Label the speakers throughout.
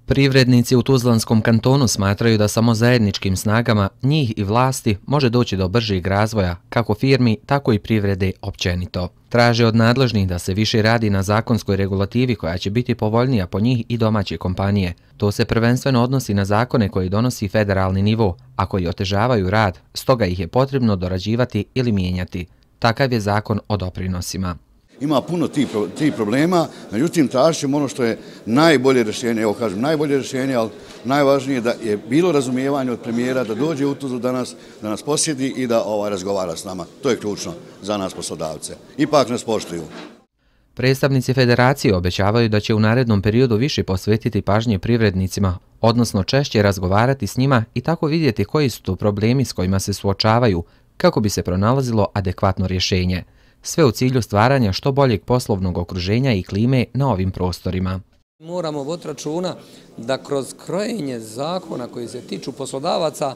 Speaker 1: Privrednici u Tuzlanskom kantonu smatraju da samo zajedničkim snagama njih i vlasti može doći do bržeg razvoja, kako firmi, tako i privrede općenito. Traže od nadležnih da se više radi na zakonskoj regulativi koja će biti povoljnija po njih i domaće kompanije. To se prvenstveno odnosi na zakone koji donosi federalni nivo, a koji otežavaju rad, stoga ih je potrebno dorađivati ili mijenjati. Takav je zakon o doprinosima.
Speaker 2: Ima puno tih problema, međutim tražit ćemo ono što je najbolje rješenje, evo kažem najbolje rješenje, ali najvažnije da je bilo razumijevanje od premijera da dođe u Tuzlu da nas posjeti i da razgovara s nama. To je ključno za nas poslodavce. Ipak nas poštuju.
Speaker 1: Predstavnici federacije obećavaju da će u narednom periodu više posvetiti pažnje privrednicima, odnosno češće razgovarati s njima i tako vidjeti koji su to problemi s kojima se suočavaju, kako bi se pronalazilo adekvatno rješenje. Sve u cilju stvaranja što boljeg poslovnog okruženja i klime na ovim prostorima.
Speaker 3: Moramo voditi računa da kroz krojenje zakona koji se tiču poslodavaca,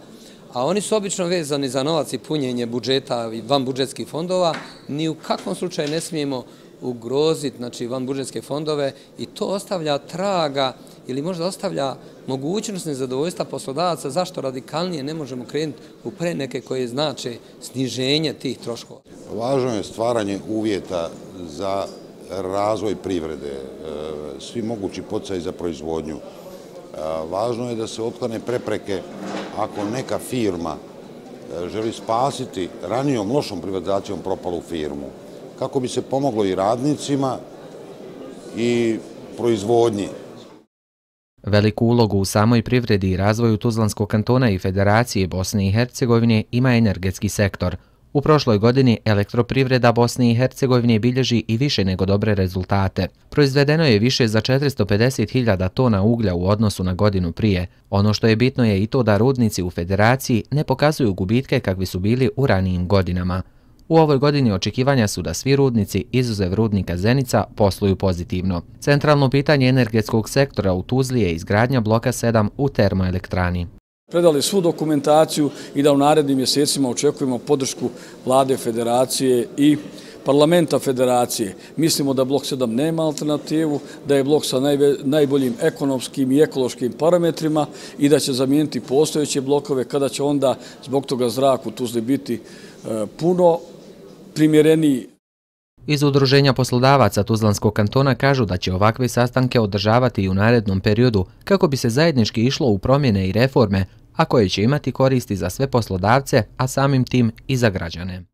Speaker 3: a oni su obično vezani za novac i punjenje budžeta i vanbudžetskih fondova, ni u kakvom slučaju ne smijemo ugroziti vanbudžetske fondove i to ostavlja traga ili možda ostavlja mogućnost nezadovoljstva poslodavaca zašto radikalnije ne možemo krenuti u preneke koje znače sniženje tih troškova.
Speaker 4: Važno je stvaranje uvjeta za razvoj privrede, svi mogući poticaji za proizvodnju. Važno je da se otklone prepreke ako neka firma želi spasiti ranijom lošom privatizacijom propalu firmu, kako bi se pomoglo i radnicima i proizvodnji.
Speaker 1: Veliku ulogu u samoj privredi i razvoju Tuzlanskog kantona i Federacije Bosne i Hercegovine ima energetski sektor. U prošloj godini elektroprivreda Bosne i Hercegovine bilježi i više nego dobre rezultate. Proizvedeno je više za 450.000 tona uglja u odnosu na godinu prije. Ono što je bitno je i to da rudnici u Federaciji ne pokazuju gubitke kakvi su bili u ranijim godinama. U ovoj godini očekivanja su da svi rudnici, izuzev rudnika Zenica, posluju pozitivno. Centralno pitanje energetskog sektora u Tuzli je izgradnja bloka 7 u termoelektrani.
Speaker 5: Predali svu dokumentaciju i da u narednim mjesecima očekujemo podršku Vlade Federacije i Parlamenta Federacije. Mislimo da blok 7 nema alternativu, da je blok sa najboljim ekonomskim i ekološkim parametrima i da će zamijeniti postojeće blokove kada će onda zbog toga zrak u Tuzli biti puno primjereniji.
Speaker 1: Iz Udruženja poslodavaca Tuzlanskog kantona kažu da će ovakve sastanke održavati i u narednom periodu kako bi se zajednički išlo u promjene i reforme, a koje će imati koristi za sve poslodavce, a samim tim i za građane.